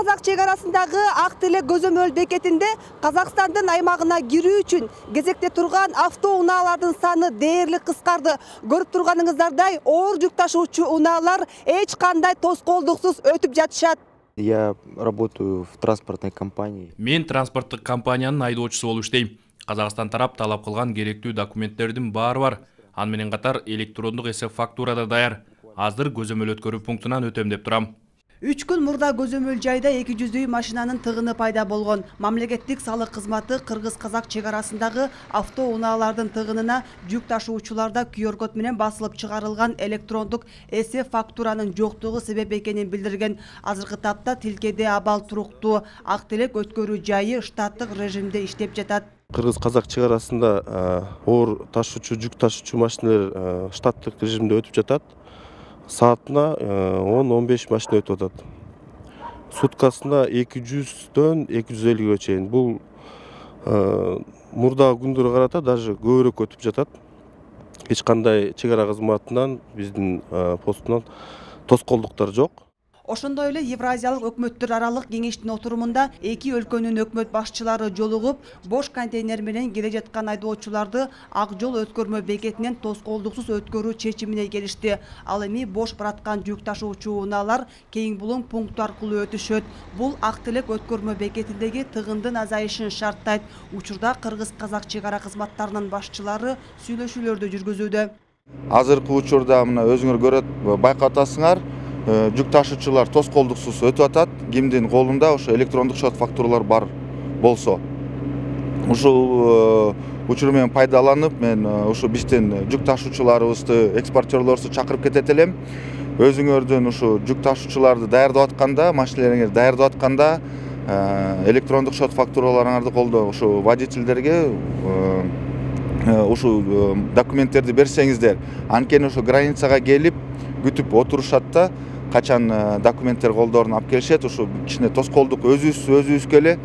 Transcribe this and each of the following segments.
Кыргыз-казак чек арасындагы Ак Телек көзөмөл бекетинде Казакстандын аймагына кирүү үчүн кезекте турган автоунаалардын саны дээрлик кыскарды. Көрүп турганыңыздардай, оор жүк ташуучу унаалар эч кандай тоскоолдуксуз өтүп жатышат. Я работаю в транспортной компании. Мен транспорттук компаниянын айдоочусу болуп иштейм. Казакстан тарап талап кылган керектүү документтердин баары бар. Аны менен катар электрондук эсеп фактура да даяр. Азыр көзөмөл өткөрүү пунктунан өтөм деп турам. 3 күн мурда көзөмөл жайда 200 машинанын тыгыны пайда болгон. Мамлекеттик салык кызматы Кыргыз-казак чек арасындагы автоунаалардын тыгынына жүк ташуучуларда QR-код менен басылып чыгарылган электрондук эсеп фактуранын жоктугу себеп экенин билдирген. Азыркы тапта тилкеде абал туруктуу. Ак Телек өткөрүү жайы штаттык режимде иштеп жатат. Кыргыз-казак чек арасында оор ташуучу, жүк ташуучу машиналар штаттык режимде өтүп жатат. Саатына 10-15 машина өтүп атат. Суткасына 200-дөн 250-ге чейин. Бул мурдагы күндөргө карата даже көбүрөөк өтүп жатат. Эч кандай чек ара кызматынан биздин постунан тоскоолдуктар жок. Ошондой эле Евразиялык өкмөттөр аралык кеңештин отурумунда эки өлкөнүн өкмөт башчылары жолугуп, бош контейнер менен келе жаткан айдоочуларды ак жол өткөрмө бекетинен тоскоолдуксуз өткөрүү чечимине келишти. Ал эми бош бараткан жүк ташуучу унаалар кең булуң пункту аркылуу өтүшөт. Бул Ак Телек өткөрмө бекетиндеги тыгындын азайышын шарттайт. Учурда Кыргыз-казак чек ара кызматтарынын башчылары сүйлөшүүлөрдү жүргүзүүдө. Азыркы учурда мына өзүңөр көрөт, байкап атасыңар. Жүк ташуучулар тоскоолдуксуз өтүп атат. Кимдин колунда ошо электрондук шот фактуралар бар болсо. Ушул учур менен пайдаланып, мен ушу биздин жүк ташуучуларыбызды, экспортерлорду чакырып кетет элем. Өзүңөрдүн ушу жүк ташуучуларды даярдап атканда, машиналарыңарды даярдап атканда электрондук шот фактураларыңарды колдо ушу водительдерге ушу документтерди берсеңиздер, анткени ошо границага келип күтүп отурушат да, качан документтер колдорун алып келишет, ушу кичине тоскоолдук өзүбүзгө эле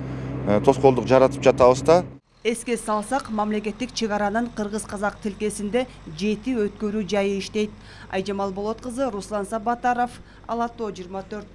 тоскоолдук жаратып жатабыз да. Эске салсак, мамлекеттик чек аранын Кыргыз-казак тилкесинде 7 өткөрүү жайы иштейт. Айжамал Болот кызы, Руслан Сабатаров, Ала Тоо 24.